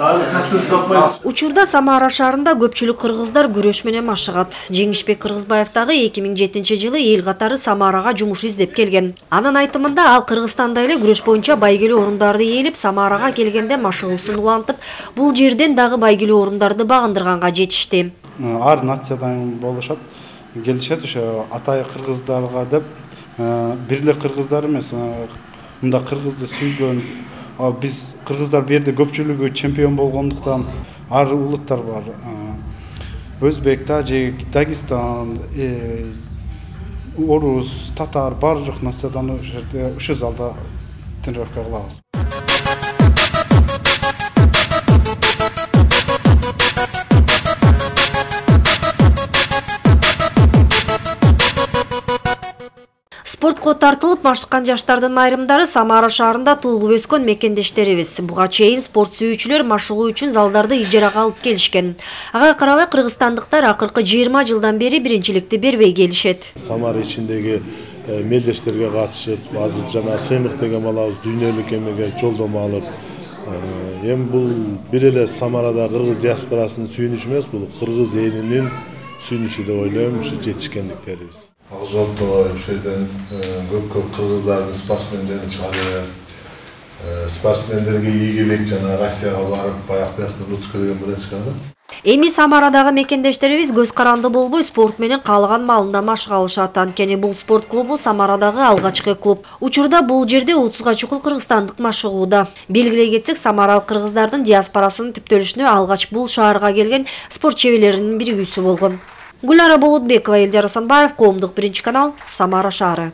Учурда Самара шаарында көпчүлүк кыргыздар күрөш менен машыгат. Жеңишбек Кыргызбаев дагы 2007-жылы эл катары Самарага жумуш издеп келген. Анын айтымында ал Кыргызстанда эле күрөш боюнча байгелүү орундарды ээлеп, Самарага келгенде машыгуусун улантып, бул жерден дагы байгелүү орундарды багындырганга жетишти. Ар нациядан болушат, келишет ошо атай кыргыздарга деп, бир эле кыргыздар эмес, мында кыргызды сүйгөн, биз кыргыздар бу жерде көпчүлүгү чемпион болгондуктан ар улуттар бар. Өзбек, тажик, Дагестан, орус, татар баардык нациядан ушу залда тренировка кылабыз. Спортко тартылып машыккан жаштардын айрымдары Самара шаарында туулуп өскөн мекендештерибиз. Буга чейин спорт сүйүүчүлөр машыгуу үчүн залдарды ижарага алып келишкен. Ага карабай кыргызстандыктар акыркы 20 жылдан бери биринчиликти бербей келишет. Самара ичиндеги мелдештерге катышып, азыр жана сыймык деген балабыз дүйнөлүк эмеге жолдомо алып, эми бул бир эле Самарада кыргыз диаспорасынын сүйүнүчү эмес, бул кыргыз элинин сүйүнүчү деп ойлойм, ушу жетишкендиктерибиз. Ал жолдо ошол жерден көп кыргыздардын спортсмендерин чыгарып, спортсмендерге ийгилик жана Россияга барып, баяк-баякта нутка деген бире чыгарды. Эми Самарадагы мекендештерибиз көз каранды болбой спорт менен каалаган маалында машыга алышат. Анткени бул спорт клубу Самарадагы алгачкы клуб. Учурда бул жерде 30га чукул кыргызстандык машыгууда. Белгилей кетсек, самаралык кыргыздардын диаспорасынын түптөлүшүнө алгач бул шаарга келген спорт чеберлеринин биригүүсү болгон. Гүлара Болотбекова, Элдер Асанбаев, Коомдук биринчи канал, Самара шаары.